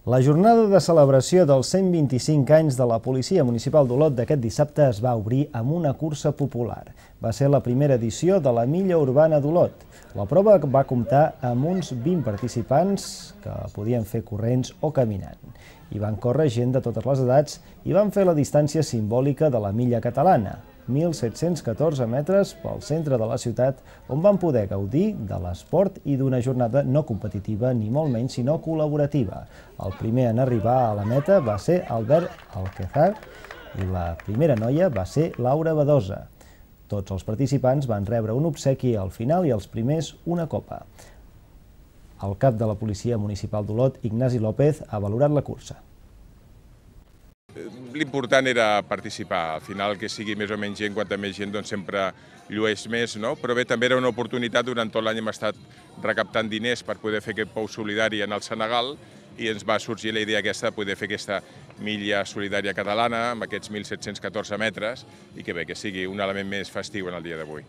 La jornada de celebració dels 125 anys de la Policia Municipal d'Olot d'aquest dissabte es va obrir amb una cursa popular. Va ser la primera edició de la Milla Urbana d'Olot. La prova va comptar amb uns 20 participants que podien fer corrents o caminant. Hi van córrer gent de totes les edats i van fer la distància simbòlica de la milla catalana, 1.714 metres pel centre de la ciutat, on van poder gaudir de l'esport i d'una jornada no competitiva ni molt menys, sinó col·laborativa. El primer en arribar a la meta va ser Albert Alquezar i la primera noia va ser Laura Badosa. Tots els participants van rebre un obsequi al final i els primers una copa. El cap de la Policia Municipal d'Olot, Ignasi López, ha valorat la cursa. L'important era participar, al final que sigui més o menys gent, quanta més gent doncs sempre llueix més, no? Però bé, també era una oportunitat, durant tot l'any hem estat recaptant diners per poder fer aquest pou solidari en el Senegal i ens va sorgir la idea aquesta de poder fer aquesta milla solidària catalana amb aquests 1.714 metres i que bé, que sigui un element més festiu en el dia d'avui.